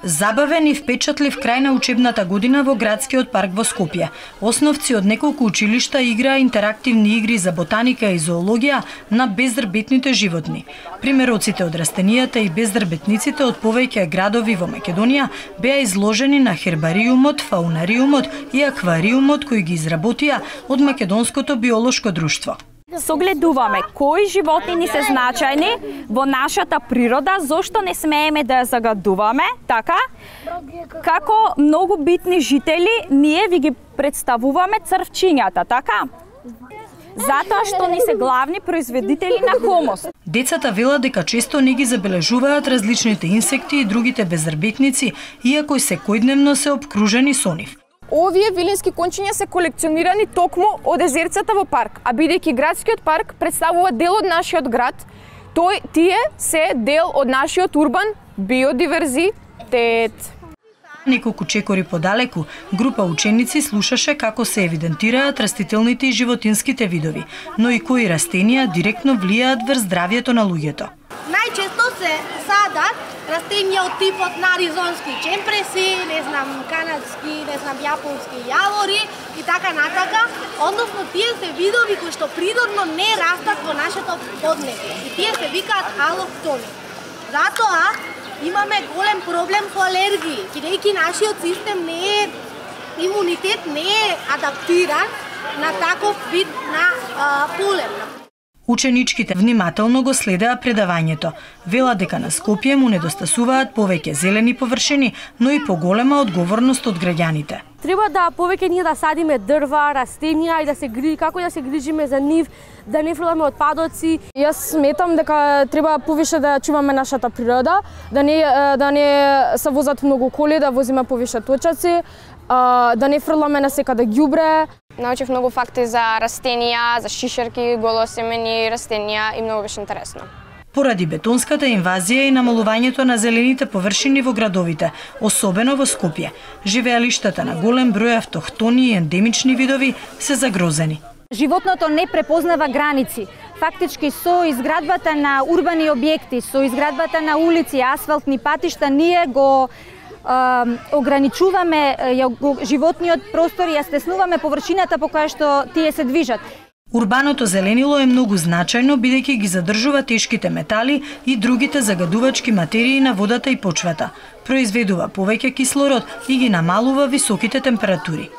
Забавен и впечатлив крај на учебната година во градскиот парк во Скопје. Основци од неколку училишта играа интерактивни игри за ботаника и зоологија на бездрбетните животни. Примероците од растенијата и бездрбетниците од повеќе градови во Македонија беа изложени на хербариумот, фаунариумот и аквариумот кои ги изработија од Македонското биолошко друштво. Согледуваме кои животни се значајни во нашата природа, зошто не смееме да ја загадуваме, така? Како многу битни жители, ние ви ги представуваме црвчињата, така? Затоа што ни се главни производители на хумус. Децата велат дека често не ги забележуваат различните инсекти и другите бездрбетници, иако секојдневно се обкружени со нив. Овие вилински кончиња се колекционирани токму од езерцата во парк, а бидејќи градскиот парк представува дел од нашиот град, тие се дел од нашиот урбан биодиверзитет. Неколку чекори подалеку, група ученици слушаше како се евидентираат растителните и животинските видови, но и кои растенија директно влијаат врз здравјето на луѓето. Најчесто се садат растенија од типот на аризонски чемпреси, канадски, јапонски јавори и така натака, односно тие се видови кои што природно не растат во нашето поднебје и тие се викаат алоктони. Затоа имаме голем проблем со алергии, бидејќи нашиот систем имунитет не е адаптиран на таков вид на полен. Ученичките внимателно го следеа предавањето. Велат дека на Скопје му недостасуваат повеќе зелени површини, но и поголема одговорност од граѓаните. Треба да повеќе ние да садиме дрва, растенија и да се како да се грижиме за нив, да не фрламе отпадоци. Јас сметам дека треба повише да чуваме нашата природа, да не се возат многу коли, да возиме повише точаци, да не фрламе на секаде ѓубре. Научив многу факти за растенија, за шишерки, голосемени растенија и многу беше интересно. Поради бетонската инвазија и намалувањето на зелените површини во градовите, особено во Скопје, живеалиштата на голем број автохтони и ендемични видови се загрозени. Животното не препознава граници. Фактички со изградбата на урбани објекти, со изградбата на улици, асфалтни патишта, ние го ограничуваме животниот простор и ја стеснуваме површината по која што тие се движат. Урбаното зеленило е многу значајно бидејќи ги задржува тешките метали и другите загадувачки материи на водата и почвата, произведува повеќе кислород и ги намалува високите температури.